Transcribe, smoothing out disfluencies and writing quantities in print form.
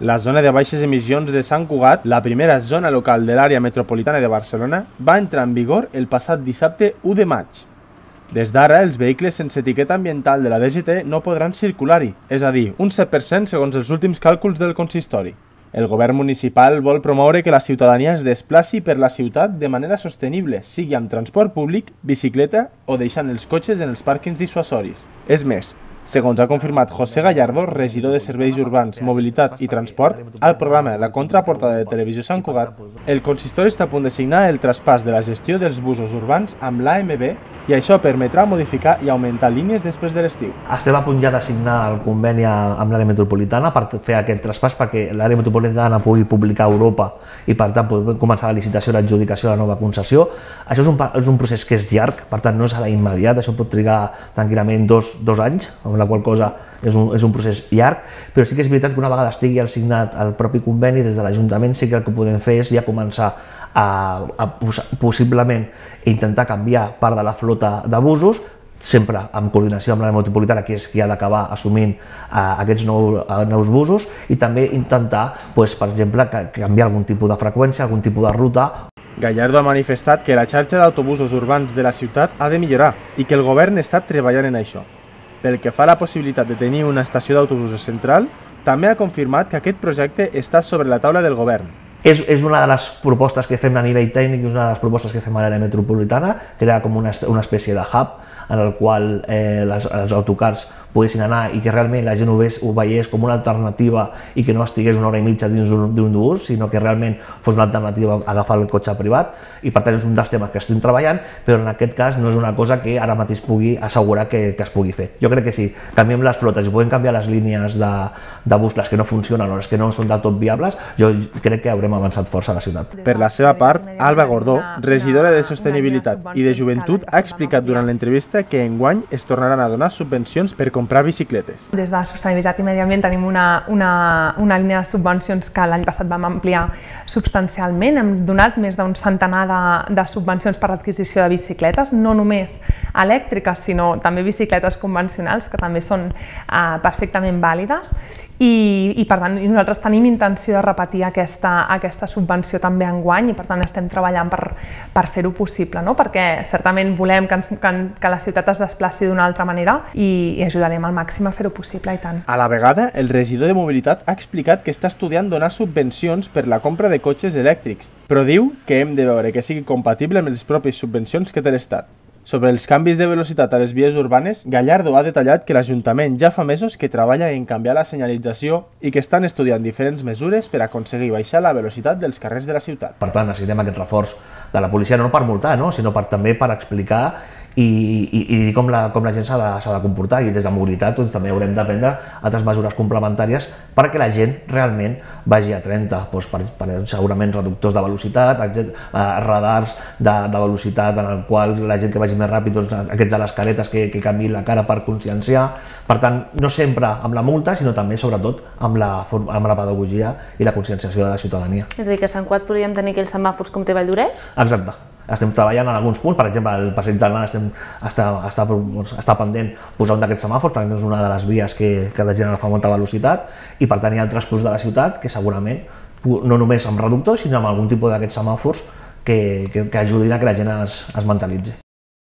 La zona de baixes emissions de Sant Cugat, la primera zona local de l'àrea metropolitana de Barcelona, va entrar en vigor el passat dissabte 1 de maig. Des d'ara, els vehicles sense etiqueta ambiental de la DGT no podran circular-hi, és a dir, un 7% segons els últims càlculs del consistori. El govern municipal vol promoure que la ciutadania es desplaci per la ciutat de manera sostenible, sigui amb transport públic, bicicleta o deixant els cotxes en els pàrquings dissuasoris. És més, segons ha confirmat José Gallardo, regidor de Serveis Urbans, Mobilitat i Transport, al programa La Contraportada de Televisió Sant Cugat, el consistori està a punt de signar el traspàs de la gestió dels busos urbans amb l'AMB i això permetrà modificar i augmentar línies després de l'estiu. Estem a punt ja de signar el conveni amb l'àrea metropolitana per fer aquest traspàs perquè l'àrea metropolitana pugui publicar a Europa i per tant pugui començar la licitació i l'adjudicació de la nova concessió. Això és un procés que és llarg, per tant no és a la immediat, això pot trigar tranquil·lament dos anys, amb la qual cosa és un procés llarg, però sí que és veritat que una vegada estigui signat el propi conveni des de l'Ajuntament sí que el que podem fer és ja començar possiblement intentar canviar part de la flota de busos, sempre en coordinació amb l'àrea metropolitana, que és qui ha d'acabar assumint aquests nous busos, i també intentar, per exemple, canviar algun tipus de freqüència, algun tipus de ruta. Gallardo ha manifestat que la xarxa d'autobusos urbans de la ciutat ha de millorar i que el govern està treballant en això. Pel que fa a la possibilitat de tenir una estació d'autobusos central, també ha confirmat que aquest projecte està sobre la taula del govern. És una de les propostes que fem a nivell tècnic i una de les propostes que fem a l'àrea metropolitana, crear com una espècie de hub en el qual els autocars poguessin anar i que realment la gent ho veiés com una alternativa i que no estigués una hora i mitja dins d'un bus, sinó que realment fos una alternativa a agafar el cotxe privat, i per tant és un dels temes que estem treballant, però en aquest cas no és una cosa que ara mateix pugui assegurar que es pugui fer. Jo crec que si canviem les flotes i podem canviar les línies de bus, les que no funcionen o les que no són del tot viables, jo crec que haurem avançat força a la ciutat. Per la seva part, Alba Gordó, regidora de Sostenibilitat i de Joventut, ha explicat durant l'entrevista que enguany es tornaran a donar subvencions per comprar bicicletes. Des de Sostenibilitat i Medi Ambient tenim una línia de subvencions que l'any passat vam ampliar substancialment. Hem donat més d'un centenar de subvencions per l'adquisició de bicicletes, no només elèctriques, sinó també bicicletes convencionals, que també són perfectament vàlides. I per tant nosaltres tenim intenció de repetir aquesta subvenció també enguany, i per tant estem treballant per fer-ho possible, perquè certament volem que la ciutat es desplaci d'una altra manera i ajudarem al màxim a fer-ho possible, i tant. A la vegada, el regidor de Mobilitat ha explicat que està estudiant donar subvencions per la compra de cotxes elèctrics, però diu que hem de veure que sigui compatible amb les pròpies subvencions que té l'Estat. Sobre els canvis de velocitat a les vies urbanes, Gallardo ha detallat que l'Ajuntament ja fa mesos que treballa en canviar la senyalització i que estan estudiant diferents mesures per aconseguir baixar la velocitat dels carrers de la ciutat. Per tant, necessitem aquest reforç de la policia, no per multar, sinó també per explicar i com la gent s'ha de comportar, i des de mobilitat també haurem de prendre altres mesures complementàries perquè la gent realment vagi a 30, segurament reductors de velocitat, radars de velocitat en el qual la gent que vagi més ràpid, aquests de les caretes que canviïn la cara per conscienciar. Per tant, no sempre amb la multa, sinó també, sobretot, amb la pedagogia i la conscienciació de la ciutadania. És a dir, que a Sant Cugat podríem tenir aquells semàfors com té Valldoreix? Exacte. Estem treballant en alguns punts, per exemple, al Passeig del Mar està pendent posar un d'aquests semàfors, perquè és una de les vies que la gent agafa a molta velocitat, i per tant hi ha altres punts de la ciutat que segurament, no només amb reductors, sinó amb algun tipus d'aquests semàfors que ajudin a que la gent es mentalitzi.